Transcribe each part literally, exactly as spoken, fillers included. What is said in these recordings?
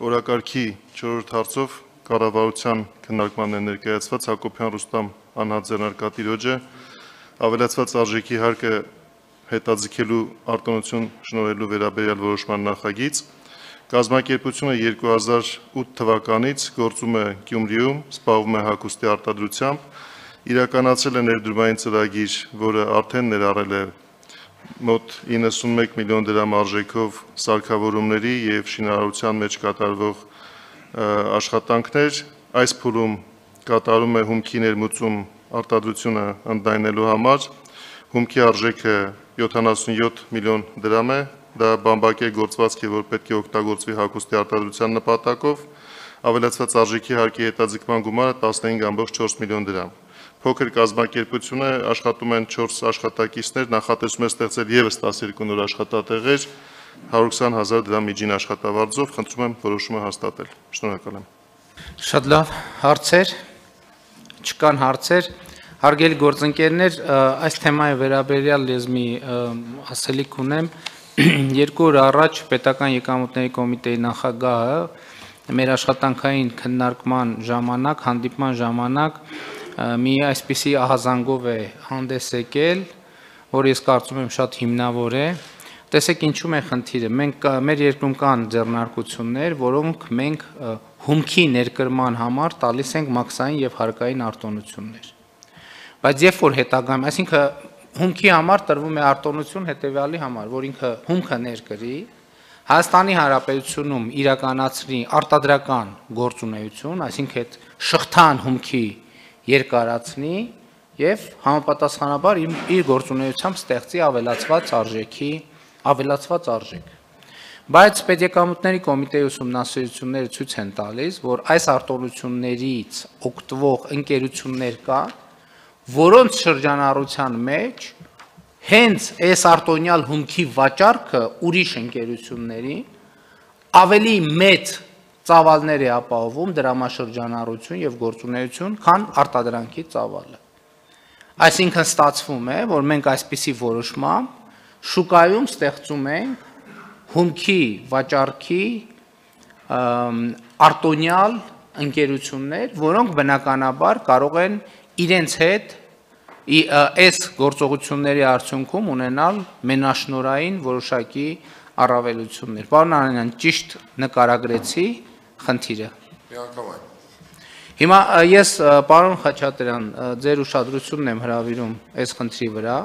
Օրակարգի չորրորդ հարցով կառավարության քննարկման է ներկայացված Հակոբյան Ռուստամ անհատ ձեռնարկատիրոջը ավելացված արժեքի հարկը հետաձգելու արտոնություն շնորհելու վերաբերյալ որոշման նախագիծ կազմակերպությունը երկու հազար ութ թվականից գործում է Գյումրիում, զբաղվում է հագուստի արտադրությամբ, իրականացել է ներդրումային ծրագիր, որը արդեն ներառել է մոտ իննսունմեկ միլիոն դրամ արժեքով սարքավորումների և շինարարության մեջ կատարվող աշխատանքներ, այս փուլում կատարում է հումքի ներմուծում արտադրությունը ընդլայնելու համար, հումքի արժեքը յոթանասունյոթ միլիոն դրամ է, դա բամբակե գործվածք է, որ պետք է օգտագործվի հագուստի արտադրության նպատակով, ավելացված արժեքի հարկի հետաձգման գումարը տասնհինգ ամբողջ չորս միլիոն դրամ։ Փոքր կազմակերպություն է, աշխատում են չորս աշխատակիցներ, նախատեսում է ստեղծել ևս տասներկու նոր աշխատատեղեր, հարյուր քսան հազար դրամ միջին աշխատավարձով, խնդրում եմ որոշումը հաստատել։ Շնորհակալ եմ։ Շատ լավ, հարցեր, չկան հարցեր, հարգելի գործընկերներ, այս թեմայի վերաբերյալ ես մի ասելիք ունեմ, երկու օր առաջ պետական եկամուտների կոմիտեի նախագահը մեր աշխատանքային քննարկման ժամանակ, հանդիպման ժամանակ մի այսպիսի ահազանգով է հանդես եկել, որ ես կարծում եմ շատ հիմնավոր է, տեսեք ինչու՞մ է խնդիրը, մենք մեր երկրում կան ձեռնարկություններ, որոնք մենք հումքի ներկրման համար տալիս ենք մաքսային և հարկային արտոնություններ, բայց երբ որ հետագայում, այսինքն հումքի համար տրվում է արտոնություն հետևյալի համար, որ ինքը հումքը ներկրի, Հայաստանի Հանրապետությունում իրականացնի արտադրական գործունեություն, այսինքն այդ շղթան հումքի երկարացնի և համապատասխանաբար իր գործունեությամբ ստեղծի ավելացված արժեքի, ավելացված արժեք։ Բայց պետեկամուտների կոմիտեի ուսումնասիրությունները ցույց են տալիս, որ այս արտոնություններից օգտվող ընկերություններ կան, որոնց շրջանառության մեջ հենց այս արտոնյալ հումքի վաճառքը ուրիշ ընկերությունների ավելի մեծ ծավալներ է ապահովում դրամաշրջանառություն և գործունեություն, քան արտադրանքի ծավալը։ Այսինքն ստացվում է, որ մենք այսպիսի որոշմամբ շուկայում ստեղծում ենք հումքի վաճառքի արտոնյալ ընկերություններ, որոնք բնականաբար կարող են իրենց հետ այս գործողությունների արդյունքում ունենալ մենաշնորհային որոշակի առավելություններ։ Պարոն Անանյան, ճիշտ նկարագրեցի խնդիրը։ Հիմա ես, պարոն Խաչատրյան, ձեր ուշադրությունն եմ հրավիրում այս խնդրի վրա,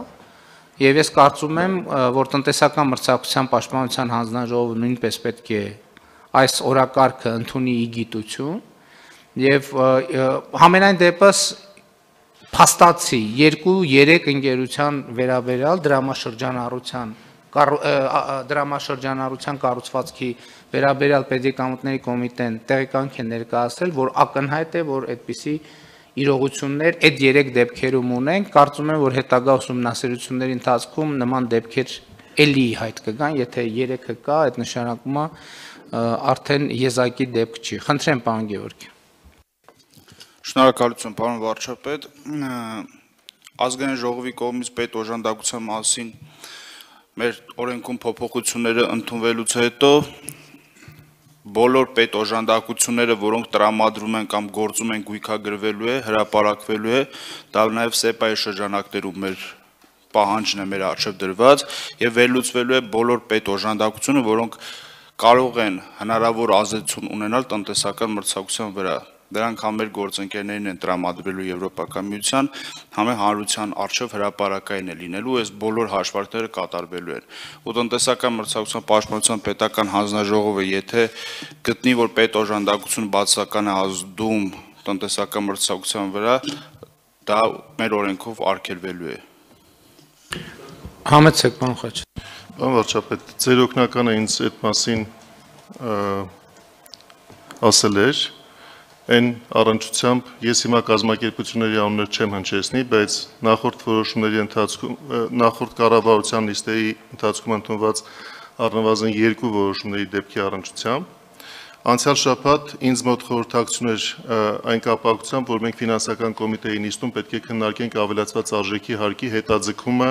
և ես կարծում եմ, որ տնտեսական մրցակցության պաշտպանության հանձնաժողովը նույնպես պետք է այս օրակարգը ընդունի ի գիտություն, և համենայն դեպս փաստացի երկու-երեք ընկերության վերաբերյալ դրամաշրջանառության դրամաշրջանառության կառուցվածքի վերաբերյալ պետեկամուտների կոմիտեն տեղեկանք է ներկայացրել, որ ակնհայտ է, որ այդպիսի իրողություններ այդ երեք դեպքերում ունենք, կարծում եմ, որ հետագա ուսումնասիրությունների ընթացքում նման դեպքեր էլի հայտ կգան, եթե երեքը կա, այդ նշանակում է արդեն եզակի դեպք չի։ Խնդրեմ, պարոն Գևորգյան։ Շնորհակալություն, պարոն վարչապետ, ազգային ժողովի կողմից պետ օժանդակության մասին մեր օրենքում փոփոխությունները ընդունվելուց հետո բոլոր պետ օժանդակությունները, որոնք տրամադրում են կամ գործում են գույքագրվելու է, հրապարակվելու է, դա նաև սեպայի շրջանակներում մեր պահանջն է մեր առջև դրված եւ վերլուծվելու է բոլոր պետ օժանդակությունը, որոնք կարող են հնարավոր ազդեցություն ունենալ տնտեսական մրցակցության վրա։ Դրանք համ մեր գործընկերներին են տրամադրվելու Եվրոպական միության, համ էլ հանրության առջև հրապարակային է լինելու, այս բոլոր հաշվարկները կատարվելու են։ Ու տնտեսական մրցակցության պաշտպանության պետական հանձնաժողովը, եթե գտնի, որ պետ օժանդակություն բացասական է ազդում տնտեսական մրցակցության վրա, դա մեր օրենքով արգելվելու է։ Համեցեք, պարոն Խաչատրյան։ Պարոն վարչապետ, ձեր օգնականը ինձ այդ մասին ասել էր, այն առնչությամբ ես հիմա կազմակերպությունների անուններ չեմ հնչեցնի, բայց նախորդ որոշումների ընթացքում, նախորդ կառավարության նիստերի ընթացքում ընդունված առնվազն երկու որոշումների դեպքի առնչությամբ, անցյալ շաբաթ ինձ մոտ խորհրդակցություն էր այն կապակցությամբ, որ մենք ֆինանսական կոմիտեի նիստում պետք է քննարկենք ավելացված արժեքի հարկի հետաձգումը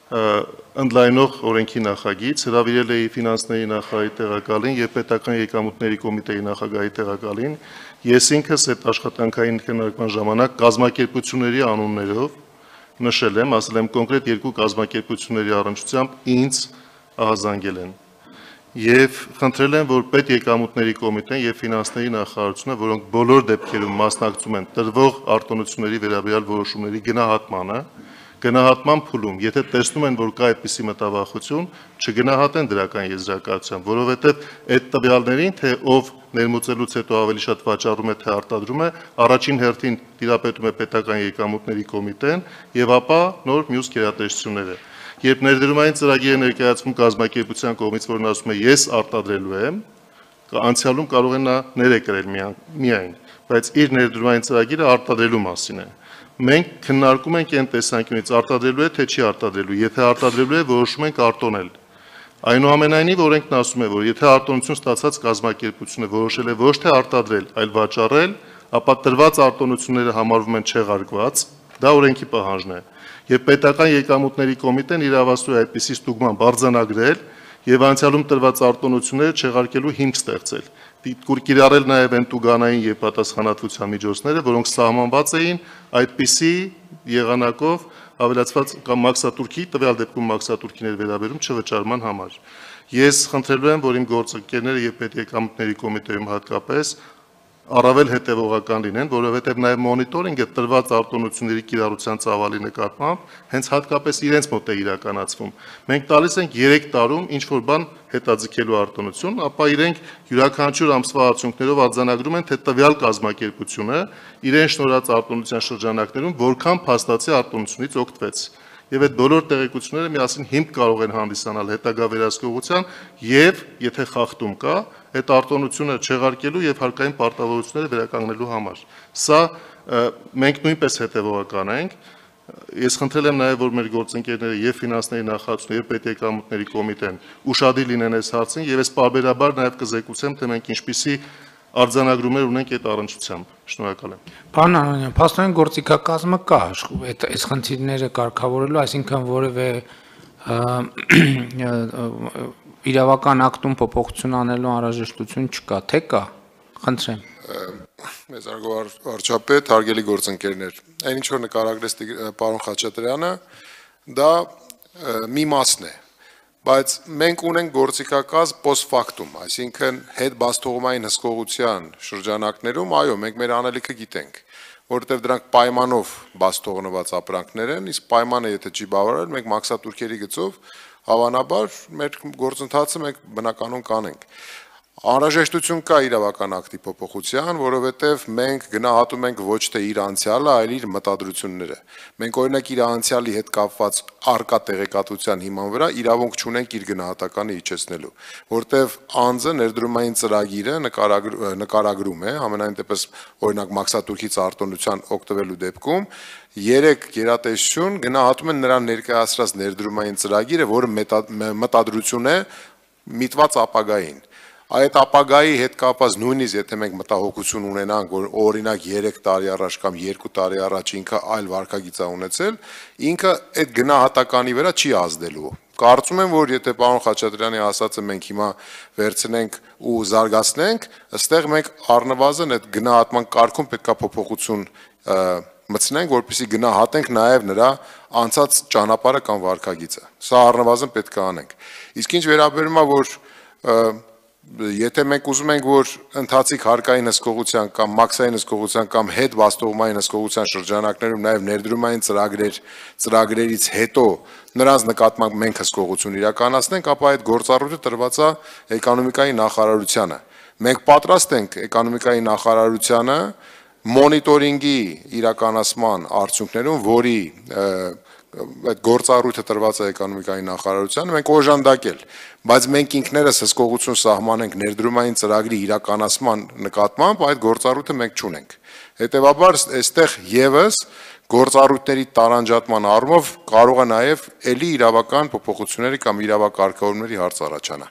ընդլայնող օրենքի նախագիծ, հրավիրել էի ֆինանսների նախարարի տեղակալին եւ պետական եկամուտների կոմիտեի նախագահի տեղակալին, ես ինքս այդ աշխատանքային քննարկման ժամանակ կազմակերպությունների անուններով նշել եմ, ասել եմ կոնկրետ երկու կազմակերպությունների առնչությամբ ինձ ահազանգել են եւ խնդրել եմ, որ պետ եկամուտների կոմիտեն եւ ֆինանսների նախարարությունը, որոնք բոլոր դեպքերում մասնակցում են տրվող արտոնությունների վերաբերյալ որոշումների գնահատմանը, գնահատման փուլում, եթե տեսնում են, որ կա այդպիսի մտավախություն, չգնահատեն դրական եզրակացությամբ, որովհետև այդ տվյալներին, թե ով ներմուծելուց հետո ավելի շատ վաճառում է, թե արտադրում է, առաջին հերթին տիրապետում է պետական եկամուտների կոմիտեն եւ ապա նոր մյուս գերատեսչությունները։ Երբ ներդրումային ծրագիրը ներկայացվում կազմակերպության կողմից, որն ասում է ես արտադրելու եմ, անցյալում կարող է նա ներեկրել միայն, բայց իր ներդրումային ծրագիրը արտադրելու մասին է։ Մենք քննարկում ենք այն տեսանկյունից արտադրելու է, թե չի արտադրելու, եթե արտադրելու է, որոշում ենք արտոնել։ Այնուամենայնիվ օրենքն ասում է, որ եթե արտոնություն ստացած կազմակերպությունը որոշել է ոչ թե արտադրել, այլ վաճառել, ապա տրված արտոնությունները համարվում են չեղարկված, դա օրենքի պահանջն է։ Եվ պետական եկամուտների կոմիտեն իրավասու է այդպիսի ստուգման բարձրանագրել եւ անցյալում տրված արտոնությունները չեղարկելու հիմք ստեղծել։ Կիրառել նաև են տուգանային եւ պատասխանատվության միջոցները, որոնք սահմանված էին այդպիսի եղանակով ավելացված կամ մաքսատուրքի, տվյալ դեպքում մաքսատուրքիներ վերաբերում չվճարման համար։ Ես խնդրելու եմ, որ իմ գործընկերները եւ պետեկամուտների կոմիտեում հատկապես առավել հետևողական լինեն, որովհետև նաև մոնիտորինգը տրված արտոնությունների կիրառության ծավալի նկատմամբ հենց հատկապես իրենց մոտ է իրականացվում։ Մենք տալիս ենք երեք տարում ինչ-որ բան հետաձգելու արտոնություն, ապա իրենք յուրաքանչյուր ամսվա արդյունքներով արձանագրում են, թե տվյալ կազմակերպությունը իրեն շնորհած արտոնության շրջանակներում որքան փաստացի արտոնությունից օգտվեց։ Եվ այդ բոլոր տեղեկությունները միասին հիմք կարող են հանդիսանալ հետագա վերահսկողության եւ եթե խախտում կա, այդ արտոնությունը չեղարկելու եւ հարկային պարտավորությունները վերականգնելու համար։ Սա մենք նույնպես հետեւողական ենք։ Ես խնդրել եմ նաեւ, որ մեր գործընկերները եւ ֆինանսների նախարարությունը եւ պետեկամուտների կոմիտեն ուշադիր լինեն այս հարցին եւ այս պարբերաբար նաեւ կզեկուցեմ, թե մենք ինչպիսի արձանագրումներ ունենք այդ առնչությամբ։ Շնորհակալ եմ։ Պարոն Անանյան, փաստորեն գործիքակազմը կա այդ այս խնդիրները կարգավորելու, այսինքն որևէ իրավական ակտում փոփոխություն անելու անհրաժեշտություն չկա, թե կա։ Խնդրեմ։ Մեծ վարչապետ, հարգելի գործընկերներ, այն ինչ որ նկարագրեց պարոն Խաչատրյանը, դա մի մասն է, բայց մենք ունենք գործիքակազմ post factum, այսինքն հետ բաստողումային հսկողության շրջանակներում, այո, մենք մեր անելիքը գիտենք, որովհետև դրանք պայմանով բաստողնված ապրանքներ են, իսկ պայմանը եթե չի բավարարել, մենք մաքսատուրքերի գծով հավանաբար մեր գործընթացը մենք բնականon կանենք։ Անհրաժեշտություն կա իրավական ակտի փոփոխության, որովհետև մենք գնահատում ենք ոչ թե իր անցյալը, այլ իր մտադրությունները։ Մենք օրինակ իր անցյալի հետ կապված արկա տեղեկատվության հիման վրա իրավունք չունենք իր գնահատականը իջեցնելու, որովհետև անձը ներդրումային ծրագիրը նկարագրում է, համենայն դեպս օրինակ մաքսատուրքից արտոնության օգտվելու դեպքում երեք գերատեսչություն գնահատում են նրան ներկայացրած ներդրումային ծրագիրը, որը մտադրություն է միտված ապագային։ Այդ ապագայի հետ կապված նույնիսկ եթե մենք մտահոգություն ունենանք, որ օրինակ երեք տարի առաջ կամ երկու տարի առաջ ինքը այլ վարկագիծ է ունեցել, ինքը այդ գնահատականի վրա չի ազդելու։ Կարծում եմ, որ եթե պարոն Խաչատրյանի ասածը մենք հիմա վերցնենք ու զարգացնենք, ըստեղ մենք առնվազն այդ գնահատման կարգում պետք է փոփոխություն մտցնենք, որպեսզի գնահատենք նաև նրա անցած ճանապարհը կամ վարկագիծը։ Սա առնվազն պետք է անենք։ Իսկ ինչ վերաբերում է, որ եթե մենք ուզում ենք, որ ընթացիկ հարկային հսկողության կամ մաքսային հսկողության կամ հետ բաստողումային հսկողության շրջանակներում նաև ներդրումային ծրագրեր, ծրագրերից հետո նրանց նկատմամբ մենք հսկողություն իրականացնենք, ապա այդ գործառույթը տրված է էկոնոմիկայի նախարարությանը։ Մենք պատրաստ ենք էկոնոմիկայի նախարարությանը մոնիտորինգի իրականացման արդյունքներում, որի այդ գործառույթը տրված է էկոնոմիկայի նախարարությանը, մենք օժանդակել, բայց մենք ինքներս հսկողություն սահմանենք ներդրումային ծրագրի իրականացման նկատմամբ, այդ գործառույթը մենք չունենք։ Հետևաբար այստեղ եւս գործառույթների տարանջատման առումով կարող է նաև էլի իրավական փոփոխությունների կամ իրավակարգավորումների հարց առաջանա։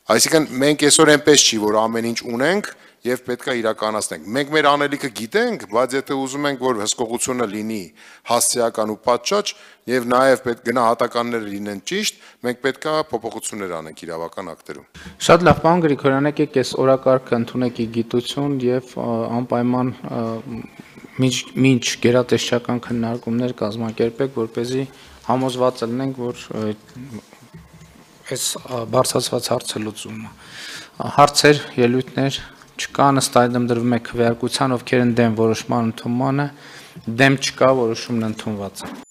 Այսինքն մենք այսօր այնպես չի, որ ամեն ինչ ունենք եւ պետքա իրականացնենք։ Մենք մեր անելիքը գիտենք, բայց եթե ուզում ենք, որ հսկողությունը լինի հասցեական ու պատշաճ եւ նաեւ պետք գնահատականները լինեն ճիշտ, մենք պետքա փոփոխություններ անենք իրավական ակտերում։ Շատ լավ, պարոն Գրիգորյան, եկեք այս օրակարգը ընդունեք ի գիտություն եւ անպայման մինչ գերատեսչական քննարկումներ կազմակերպեք, որպեսզի համոզված լինենք, որ այս բարձրացված հարցը լուծվում է։ Հարցեր, ելույթներ չկան, ըստ այդմ դրվում է քվեարկության, ովքեր են դեմ որոշման ընդունմանը, դեմ չկա, որոշումն ընդունված է։